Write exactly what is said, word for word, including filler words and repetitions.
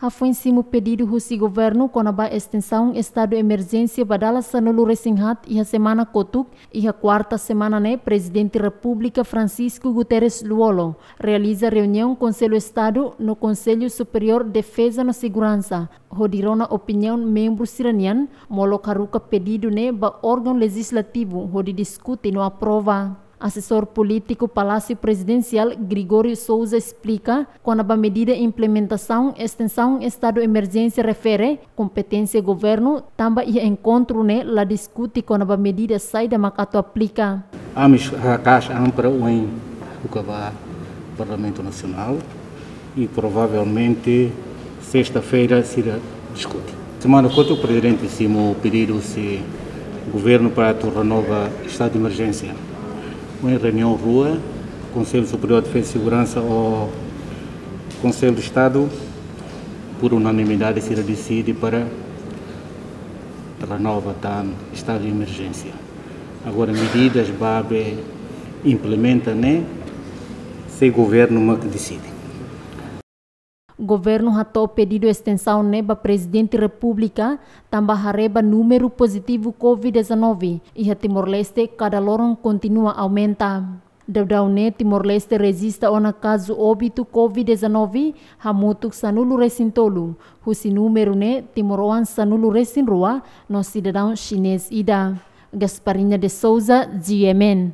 Hafoin simu pedidu husi governu kona-ba estensaun estadu emerjénsia ba dala sanulu-resin-haat iha semana kotuk, iha kuarta semana ne'e Prezidente Repúblika Francisco Guterres Lú-Olo realiza reuniaun Konsellu Estadu no Konsellu Superiór Defeza no Seguransa, hodi rona opiniaun membru sira-nian, molok haruka pedidu ne'e ba órgaun lejislativu hodi diskute no aprova. Asesór polítiku Palásiu Prezidensiál Gregório Sousa esplika, kona-ba medida implementasaun estensaun estadu emerjénsia refere kompeténsia governu, tanba iha enkontru ne'e la diskute kona-ba medida saida mak atu aplika. Ami haka'as an para ohin buka ba Parlamentu Nasionál i provavelmente sesta-feira sira diskute. Semana kotuk Prezidente simu pedidu husi governu para atu renova estadu de emerjénsia. Ohin reuniaun rua, Konsellu Superiór Defeza i Seguransa ho Konsellu de Estadu, por unanimidade sira deside para renova tan estadu de emerjénsia. Agora medidas ba be implementa ne'e, se governu mak deside. Governu hato'o pedidu estensaun ne'e ba Prezidente Repúblika, tanba haree ba númeru pozitivu COVID dezanove iha Timor-Leste kada loron kontinua aumenta. Daudaun ne'e Timor-Leste rejista ona kazu óbitu COVID dezanove hamutuk sanulu-resin-tolu, husi númeru ne'e timoroan sanulu-resin-rua no sidadaun xinés ida. Gasparinha de Sousa, G M N.